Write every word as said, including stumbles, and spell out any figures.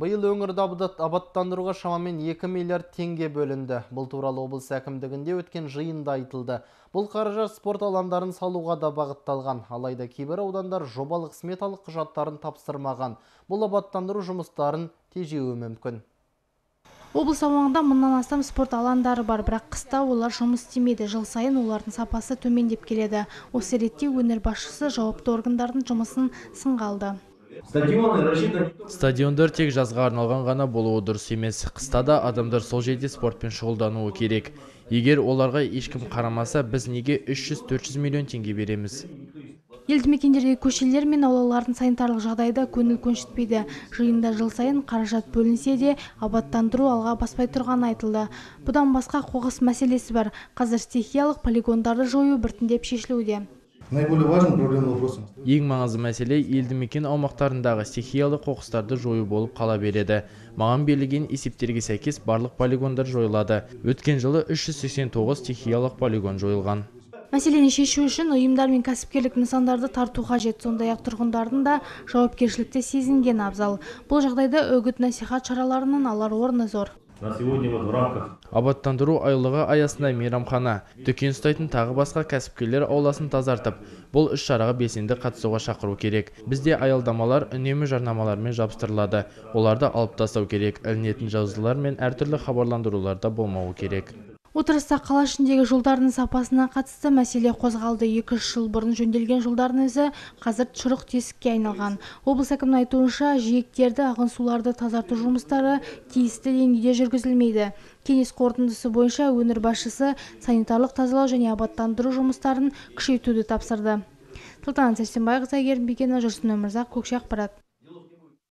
Быйыл өңірді абаттандыруға шамамен екі миллиард теңге бөлінді. Бұл туралы облыс әкімдігінде өткен жиында айтылды. Бұл қаражат спорт алаңдарын салуға да бағытталған. Алайда кейбір аудандар жобалық сметалық құжаттарын тапсырмаған. Бұл абаттандыру жұмыстарын тежеуі мүмкін. Облыс аумағында мыңнан астам спорт алаңдары бар, бірақ қыста олар жұмыс істемейді. Жыл сайын олардың сапасы төмендеп келеді. Осы ретте өңір басшысы жауапты органдардың жұмысын сынға алды. Стадиондар тек жазға арналған ғана болуы дұрыс емес. Қыста да адамдар сол жерде спортпен шұғылдануы керек. Егер оларға ешкім қарамаса, біз неге үш жүз төрт жүз миллион теңге береміз? Елді мекендердегі көшелер мен аулалардың санитарлық жағдайда көңіл көншітпейді. Жиында жыл сайын қаражат бөлінсе де, абаттандыру алға баспай тұрғаны айтылды. Бұдан басқа қоқыс мәселесі бар. Қазір стихиялық полигондарды жою біртіндеп шешілуде. Ең маңызды мәселе елді мекен аумақтарындағы стихиялы қоқыстарды жою болып қала береді. Маған берілген есептерге сәйкес барлық полигондар жойылады. Өткен жылы үш жүз сексен тоғыз стихиялық полигон жойылған. Мәселені шешу үшін ұйымдар мен кәсіпкерлік нысандарды тарту қажет, сондай-ақ тұрғындардың да жауапкершілікті сезінген абзал. Бұл жағдайда үгіт-насихат шараларының алар орны зор. Абаттандыру айлығы аясында мейрамхана, дүкен ұстайтын тағы басқа кәсіпкерлер ауласын тазартып, бұл іс шараға белсенді қатысуға шақыру керек. Бізде аялдамалар үнемі жарнамалармен жабыстырылады. Оларды алып тастау керек. Ілінетін жазулар мен әртүрлі хабарландыруларда болмауы керек. Отырыста қала ішіндегі жолдардың сапасына қатысты мәселе қозғалды. екі үш жыл бұрын жөнделген жолдардың өзі қазір шұрық тесікке айналған. Облыс әкімінің айтуынша, жиектерді, ағын суларды тазарту жұмыстары тиісті деңгейде жүргізілмейді. Кеңес қорытындысы бойынша өңір басшысы санитарлық тазалау және абаттандыру жұмыстарын күшейтуді тапсырды. Салтанат Сәрсенбайқызы, Әйгерім Бекенова, Жүрсін Өмірзақ, Көкше ақпарат.